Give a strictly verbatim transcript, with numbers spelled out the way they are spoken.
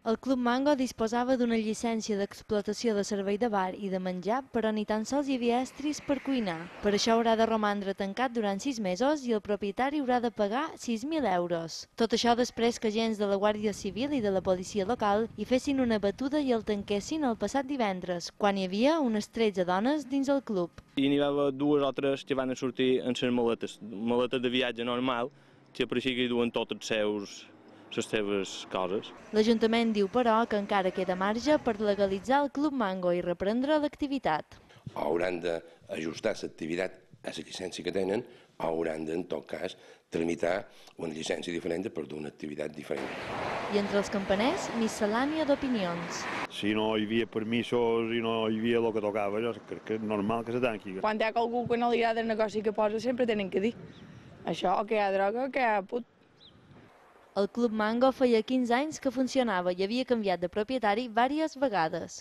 El Club Mango disposava d'una llicència d'explotació de servei de bar i de menjar, però ni tan sols hi havia estris per cuinar. Per això haurà de romandre tancat durant sis mesos i el propietari haurà de pagar sis mil euros. Tot això després que agents de la Guàrdia Civil i de la policia local hi fessin una batuda i el tanquessin el passat divendres, quan hi havia unes tretze dones dins el club. I n'hi va dues o tres que van sortir amb les maletes, maletes de viatge normal, que pareixia que hi duen tots els seus les seves coses. L'Ajuntament diu, però, que encara queda marge per legalitzar el Club Mango i reprendre l'activitat. Hauran d'ajustar l'activitat a la llicència que tenen, o hauran de, en tot cas, tramitar una llicència diferent per d'una activitat diferent. I entre els campaners, miscel·lània d'opinions. Si no hi havia permisos i no hi havia el que tocava, jo crec que és normal que se tanqui. Quan hi ha algú que no li agrada el negoci que posa, sempre tenen que dir això, o que hi ha droga, o que hi ha put. El Club Mango feia quinze anys que funcionava i havia canviat de propietari diverses vegades.